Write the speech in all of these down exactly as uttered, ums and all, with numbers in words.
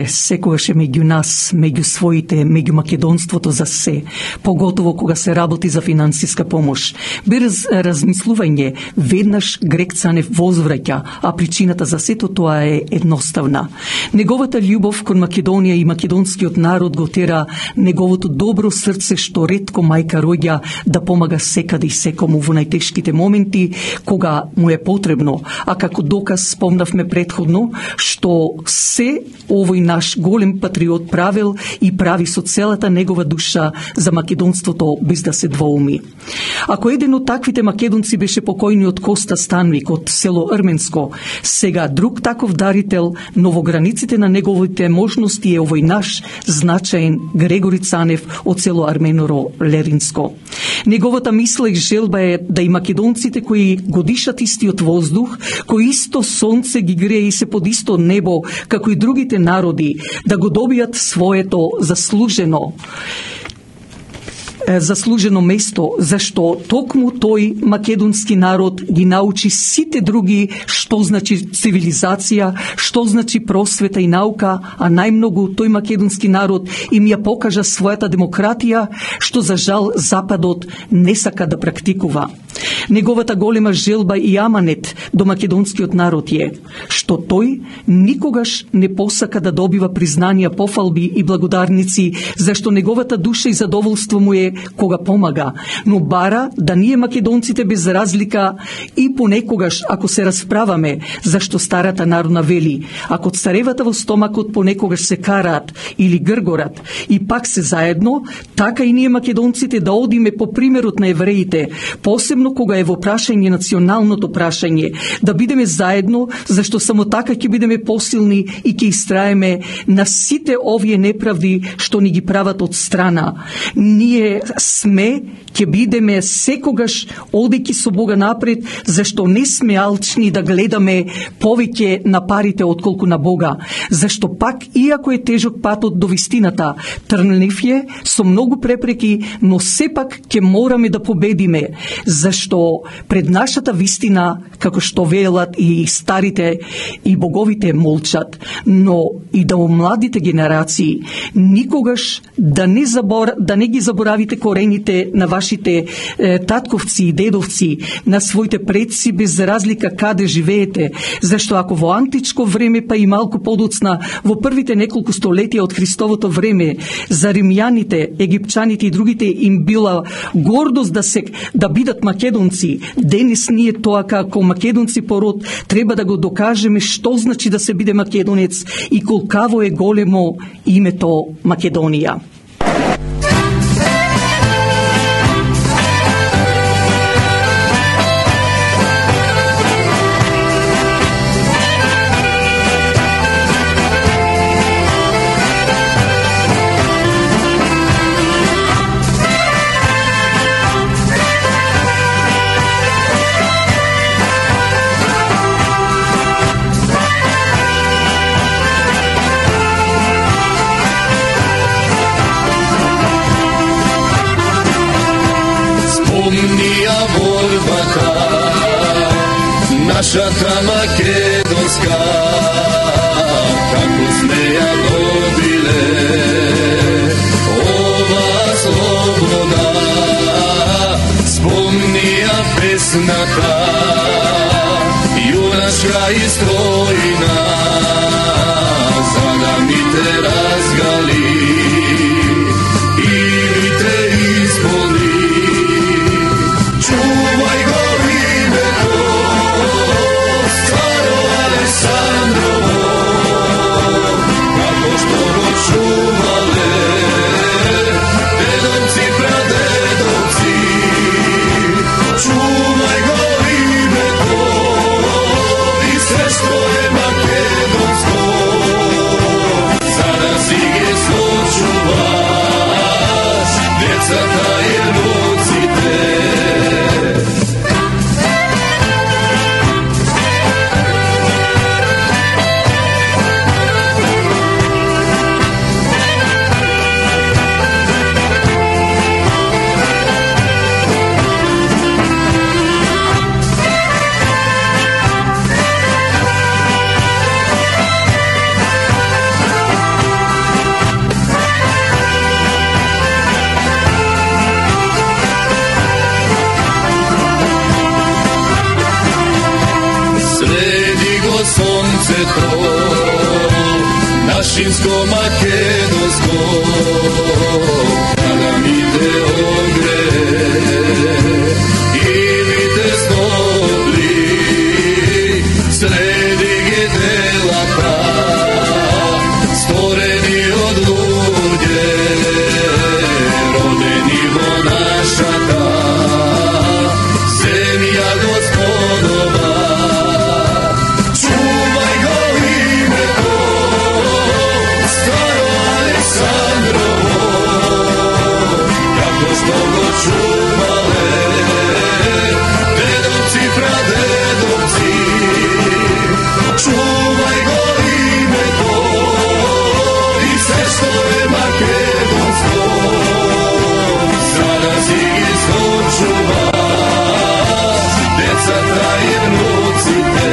секогаш е меѓу нас, меѓу своите, меѓу македонството за се, поготово кога се работи за финансиска помош. Без размислување, веднаш Грег Цанев возвраќа, а причината за сето тоа е едноставна. Неговата љубов кон Македонија и македонскиот народ го тера неговото добро срце што ретко мајка роѓа да помага секаде и секому во најтешките моменти кога му е потребно, а како доказ спомнавме претходно што се овој наш голем патриот правил и прави со целата негова душа за македонството без да се двоуми. Ако еден од таквите македонци беше покојниот Коста Станвик од село Рменско, сега друг таков дарител, но во границите на неговите можности е овој наш значаен Грегори Цанев од село Арменоро Леринско. Неговата мисла и желба е да и македонците кои го дишат истиот воздух, кои исто сонце ги грее и се под исто небо, како и другите народи, да го добијат своето заслужено заслужено место, зашто токму тој македонски народ ги научи сите други што значи цивилизација, што значи просвета и наука, а најмногу тој македонски народ им ја покажа својата демократија, што за жал Западот не сака да практикува. Неговата голема желба и аманет до македонскиот народ е што тој никогаш не посака да добива признанија, пофалби и благодарници, зашто неговата душа и задоволство му е кога помага, но бара да ние македонците без разлика и понекогаш ако се расправаме, зашто старата народна вели, ако царевата во стомакот понекогаш се караат или гргорат и пак се заедно, така и ние македонците да одиме по примерот на евреите, посебно кога е во прашање националното прашање, да бидеме заедно, зашто само така ќе бидеме посилни и ќе истраеме на сите овие неправди што ни ги прават од страна. Ние сме, ќе бидеме секогаш одејќи со Бога напред, зашто не сме алчни да гледаме повеќе на парите отколку на Бога, зашто пак, иако е тежок патот до вистината, трнлив е со многу препреки, но сепак ќе мораме да победиме, зашто пред нашата вистина, како што велат и старите и боговите молчат, но и да младите генерации никогаш да не забор, да не ги заборавите корените на вашите е, татковци и дедовци, на своите предци без разлика каде живеете, зашто ако во античко време па и малку подоцна во првите неколку столетија од Христовото време за римјаните, египчаните и другите им била гордост да се да бидат македонци, денес ние тоа како македонци по род треба да го докажеме што значи да се биде македонец и колкаво е големо името Македонија. Нашата македонска, како сме ја добиле, ова слобода, спомни ја песната, јуначка и стројна, за да ми те разгали и ми те исполни. Чувај го името Царо Александрово, како што го чувале дедовци, прадедовци. Чувај го името и се што е Вишинско македонско, да ми те огрее и ми те стопли среди ги делата створени од луѓе родени во нашата земја Господова. Чувај го името Старо Александрово, како што го чувале дедовци, прадедовци. Чувај го името и се што е македонско, за да си ги сочуваш децата и внуците.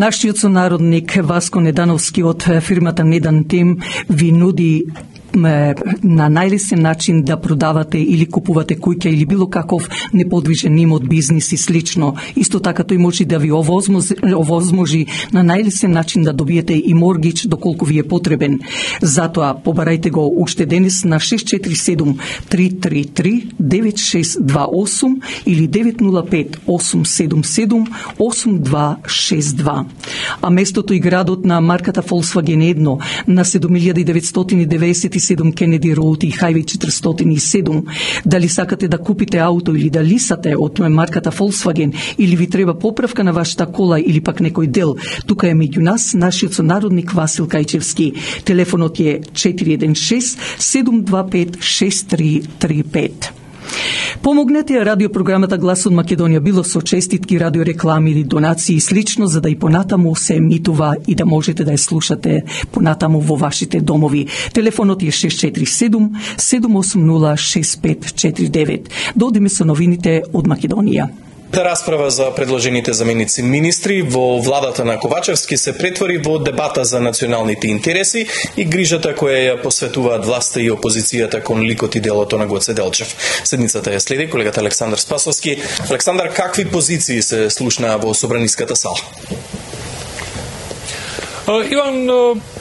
Нашиот сонародник Васко Недановски од фирмата Недан Тем ви нуди на најлесен начин да продавате или купувате куќа или било каков неподвижен имот, бизнис и слично. Исто така тој може да ви овозможи на најлесен начин да добиете и моргич доколку ви е потребен. Затоа побарајте го уште денес на шест четири седум три три три девет шест два осум или девет нула пет осум седум седум осум два шест два. А местото и градот на марката Volkswagen едно на седум илјади деветстотини деветдесет и седум Кенеди Роуд и Хајвеј четиристотини и седум. Дали сакате да купите ауто или да лисате од марката Volkswagen или ви треба поправка на вашата кола или пак некој дел, тука е меѓу нас нашиот сонародник Васил Кајчевски. Телефонот е четири еден шест седум два пет шест три три пет. Помогнете ја радиопрограмата Глас од Македонија било со честитки, радиореклами или донации и слично, за да и понатаму се емитува и да можете да ја слушате понатаму во вашите домови. Телефонот е шест четири седум седум осум нула шест пет четири девет. Додиме со новините од Македонија. Расправа за предложените заменици министри во владата на Ковачевски се претвори во дебата за националните интереси и грижата која ја посветуваат власта и опозицијата кон ликот и делото на Гоце Делчев. Седницата ја следи колегата Александар Спасовски. Александар, какви позиции се слушнаа во собраниската сала? Иван,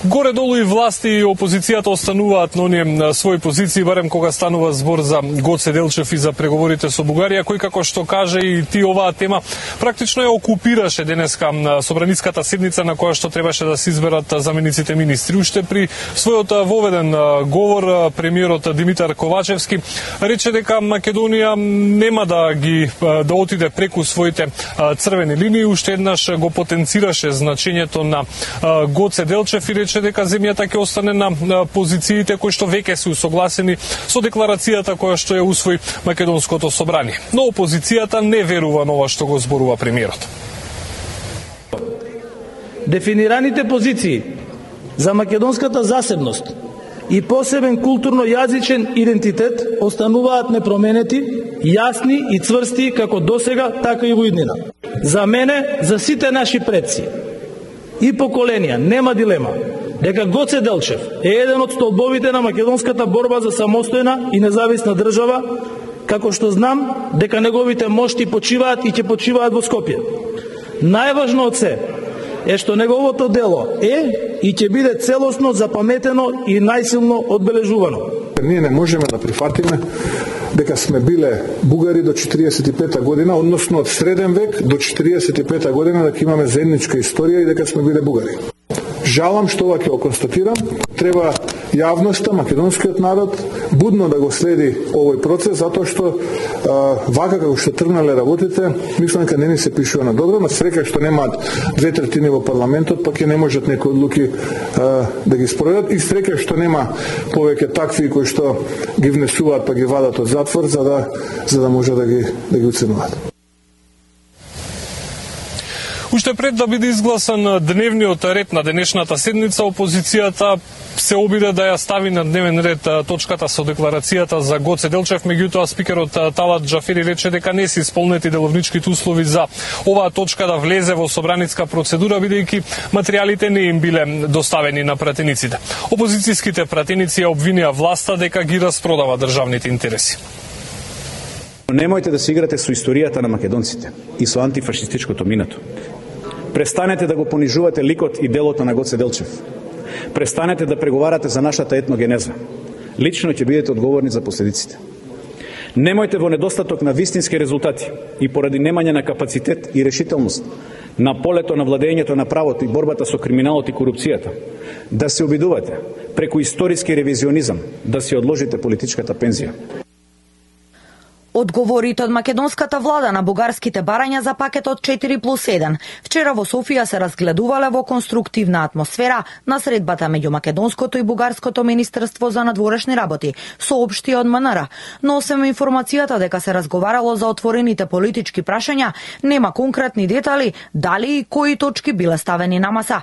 горе-долу и власти и опозицијата остануваат на оние своји позиции, барем кога станува збор за Гоце Делчев и за преговорите со Бугарија, кој како што каже и ти оваа тема практично ја окупираше денеска собраниската седница на која што требаше да се изберат замениците министри. Уште при својот воведен говор премиерот Димитар Ковачевски рече дека Македонија нема да ги да отиде преку своите црвени линии, уште еднаш го потенцираше значењето на Гоце Делчев и рече дека земјата ќе остане на позициите кои што веќе се усогласени со декларацијата која што ја усвои Македонското собрание. Но опозицијата не верува на ова што го зборува премиерот. Дефинираните позиции за македонската засебност и посебен културно-јазичен идентитет остануваат непроменети, јасни и цврсти како досега, така и во иднина. За мене, за сите наши предци, и поколенија, нема дилема дека Гоце Делчев е еден од столбовите на македонската борба за самостојна и независна држава, како што знам дека неговите мошти почиваат и ќе почиваат во Скопје. Најважно од се е што неговото дело е и ќе биде целосно запаметено и најсилно одбележувано. Ние не можеме да прифатиме дека сме биле бугари до четириесет и пета година, односно од среден век до четириесет и пета година, дека имаме заедничка историја и дека сме биле бугари. Жалам што ова ќе го констатирам. Треба јавноста, македонскиот народ будно да го следи овој процес, затоа што а, вака како што тргнале работите, мислам дека не ни се пишува на добро, на среќа што немаат две третини во парламентот, пак и не можат некои одлуки а, да ги спроведат, и среќа што нема повеќе такви кои што ги внесуваат па ги вадат од затвор за да за да може да ги да ги уценуваат. Уште пред да биде изгласан дневниот ред на денешната седница, опозицијата се обиде да ја стави на дневен ред точката со декларацијата за Гоце Делчев, меѓутоа спикерот Талат Џафери рече дека не се исполнети деловничките услови за оваа точка да влезе во собраниска процедура, бидејќи материјалите не им биле доставени на пратениците. Опозицијските пратеници ја обвинија власта дека ги распродава државните интереси. Немојте да се играте со историјата на македонците и со антифашистичкото минато. Престанете да го понижувате ликот и делото на Гоце Делчев. Престанете да преговарате за нашата етногенеза. Лично ќе бидете одговорни за последиците. Немојте во недостаток на вистински резултати и поради немање на капацитет и решителност на полето на владењето на правото и борбата со криминалот и корупцијата да се обидувате преку историски ревизионизам да си одложите политичката пензија. Одговорите од македонската влада на бугарските барања за пакетот четири плюс еден вчера во Софија се разгледувале во конструктивна атмосфера на средбата меѓу македонското и бугарското министерство за надворешни работи, соопшти од МНР. Но освен информацијата дека се разговарало за отворените политички прашања, нема конкретни детали дали и кои точки биле ставени на маса.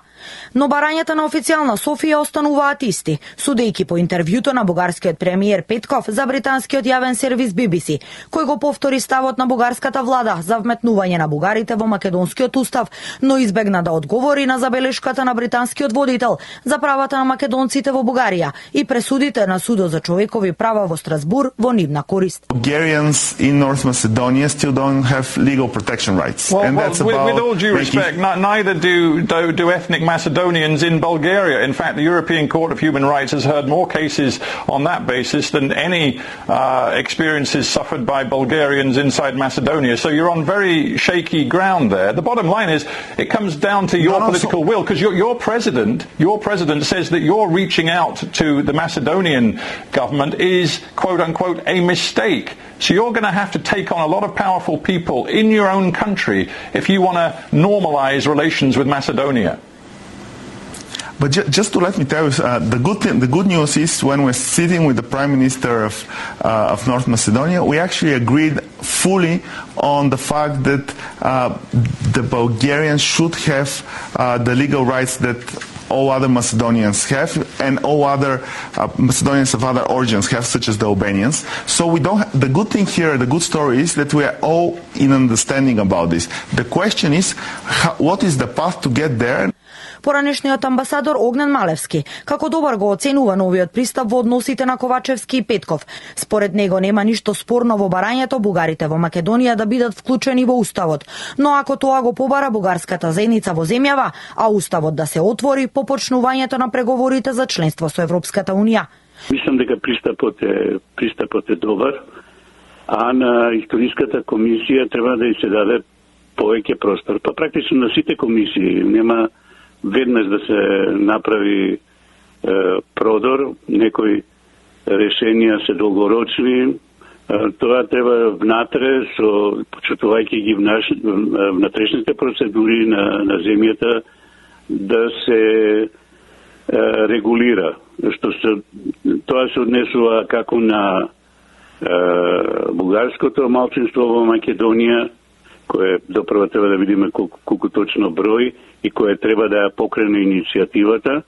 Но барањата на официјална Софија остануваат исти, судејќи по интервјуто на бугарскиот премиер Петков за британскиот јавен сервис Би Би Си, кој го повтори ставот на бугарската влада за вметнување на бугарите во македонскиот устав, но избегна да одговори на забелешката на британскиот водител за правата на македонците во Бугарија и пресудите на Судот за човекови права во Страсбур во нивна корист. Bulgarians in North Macedonia still don't have legal protection rights. Well, and well, that's with, about with all due respect, n- neither do, do do ethnic Macedonians in Bulgaria. In fact, the European Court of Human Rights has heard more cases on that basis than any uh, experiences suffered by Bulgarians inside Macedonia. So you're on very shaky ground there. The bottom line is it comes down to your no, no, political so will, because your, your president, your president says that you're reaching out to the Macedonian government is quote unquote a mistake. So you're going to have to take on a lot of powerful people in your own country if you want to normalize relations with Macedonia. But ju- just to let me tell you, uh, the good thing, the good news is when we're sitting with the Prime Minister of uh, of North Macedonia, we actually agreed fully on the fact that uh, the Bulgarians should have uh, the legal rights that all other Macedonians have, and all other uh, Macedonians of other origins have, such as the Albanians. So we don't. Ha- the good thing here, the good story is that we are all in understanding about this. The question is, how, what is the path to get there? Поранешниот амбасадор Огнен Малевски како добар го оценува новиот пристап во односите на Ковачевски и Петков. Според него нема ништо спорно во барањето бугарите во Македонија да бидат вклучени во уставот, но ако тоа го побара бугарската заедница во земјава, а уставот да се отвори по почнувањето на преговорите за членство со Европската унија. Мислам дека пристапот е пристапот е добар, а на историската комисија треба да и се даде повеќе простор. Па практично на сите комисии нема веднаш да се направи е, продор, некои решенија се долгорочни, е, тоа треба внатре, со почитувајќи ги внаш, внатрешните процедури на, на земјата, да се е, регулира. Што се, тоа се однесува како на е, бугарското малцинство во Македонија, кое допрва треба да видиме колку, колку точно број и кое треба да ја покрене иницијативата,